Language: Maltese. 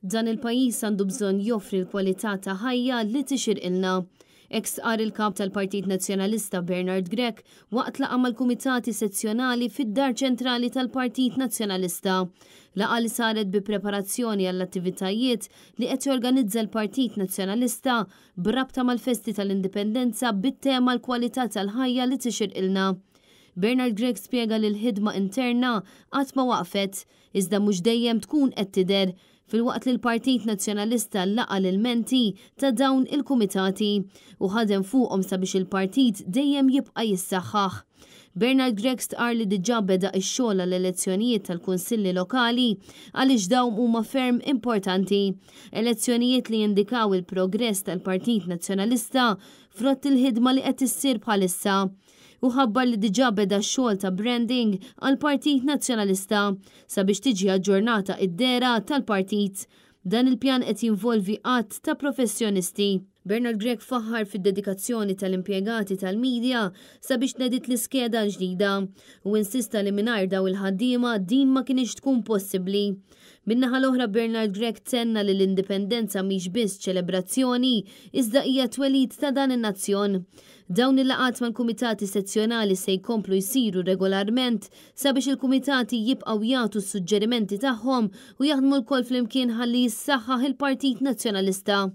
Dan il-pajjiż għandu bżonn joffri l-kwalità ta' ħajja li tixirqilna. Hekk stqarr il-Kap tal-Partit Nazzjonalista Bernard Grech waqt laqgħa mal-Kumitati Sezzjonali fid-Dar Ċentrali tal-Partit Nazzjonalista. Laqgħa li saret bi preparazzjoni għall-attivitajiet li qed jorganizza l-Partit Nazzjonalista b'rabta mal-festi tal-Indipendenza bit-tema l-kwalità tal-ħajja li tixirqilna. Bernard Grech spjega li l-ħidma interna qatt ma waqfet, iżda mhux dejjem tkun qed tidher, filwaqt li l-Partit Nazzjonalista laqa' l-ilmenti ta' dawn il-kumitati u ħadem fuqhom sabiex il-partit dejjem jibqa' jissaħħaħ. Bernard Grech stqarr li diġà beda x-xogħol għall-elezzjonijiet tal-Kunsilli Lokali għaliex dawn huma ferm importanti. Elezzjonijiet li jindikaw il-progress tal-Partit Nazzjonalista frott il-ħidma li qed issir bħalissa. Hu ħabbar li diġà beda x-xogħol ta' branding għall-Partit Nazzjonalista sabiex tiġi aġġornata id-dehra tal-partit. Dan il-pjan qed jinvolvi għadd ta' professjonisti. Bernard Grech faħħar fid-dedikazzjoni tal-impjegati tal-media sabiex tnediet l-iskeda l-ġdida u insista li mingħajr dawn il-ħaddiema din ma kinitx tkun possibbli. Min-naħa l-oħra Bernard Grech tenna li l-Indipendenza mhix biss ċelebrazzjoni iżda hija twelid ta' dan in-nazzjon. Dawn il-laqgħat mal-kumitati sezzjonali se jkomplu jsiru regolarment sabiex il-kumitati jibqgħu jagħtu s-suġġerimenti tagħhom u jaħdmu lkoll flimkien ħalli jissaħħaħ il-Partit Nazzjonalista.